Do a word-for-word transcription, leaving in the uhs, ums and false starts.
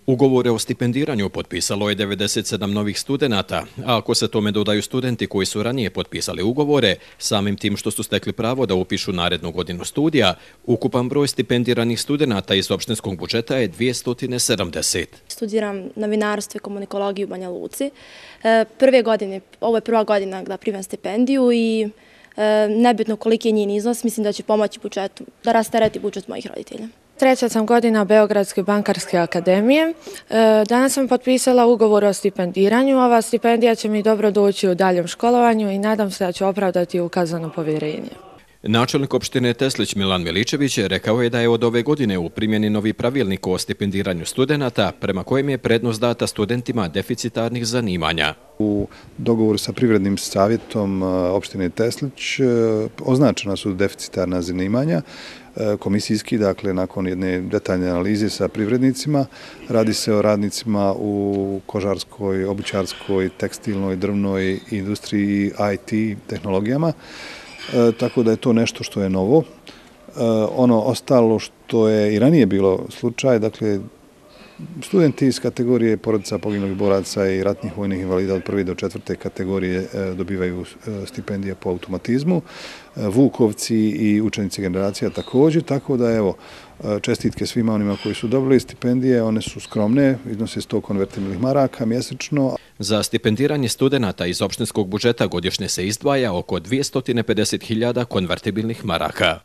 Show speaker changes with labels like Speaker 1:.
Speaker 1: Ugovore o stipendiranju potpisalo je devedeset sedam novih studenata, a ako se tome dodaju studenti koji su ranije potpisali ugovore, samim tim što su stekli pravo da upišu narednu godinu studija, ukupan broj stipendiranih studenata iz opštinskog budžeta je dvjesto sedamdeset.
Speaker 2: Studiram novinarstvo i komunikologiju u Banja Luci. Prve godine, ovo je prva godina da primam stipendiju i nebitno koliki je njen iznos, mislim da će pomoći budžetu, da rastereti budžet mojih roditelja.
Speaker 3: Treća sam godina Beogradske bankarske akademije. Danas sam potpisala ugovor o stipendiranju. Ova stipendija će mi dobro doći u daljem školovanju i nadam se da će opravdati ukazano povjerenje.
Speaker 1: Načelnik opštine Teslić Milan Miličević rekao je da je od ove godine u primjeni novi pravilnik o stipendiranju studenata, prema kojem je prednost data studentima deficitarnih zanimanja.
Speaker 4: U dogovoru sa privrednim savjetom opštine Teslić označena su deficitarna zanimanja komisijski, dakle nakon jedne detaljne analize sa privrednicima. Radi se o radnicima u kožarskoj, obućarskoj, tekstilnoj, drvnoj industriji i I T tehnologijama. E, tako da je to nešto što je novo. E, ono ostalo što je i ranije bilo slučaj, dakle, studenti iz kategorije porodica poginulih boraca i ratnih vojnih invalida od prve do četvrte kategorije e, dobivaju e, stipendije po automatizmu, e, vukovci i učenici generacija također, tako da evo, čestitke svima onima koji su dobili stipendije, one su skromne, iznose sto konvertibilnih maraka mjesečno.
Speaker 1: Za stipendiranje studenata iz opštinskog budžeta godišnje se izdvaja oko dvjesto pedeset hiljada konvertibilnih maraka.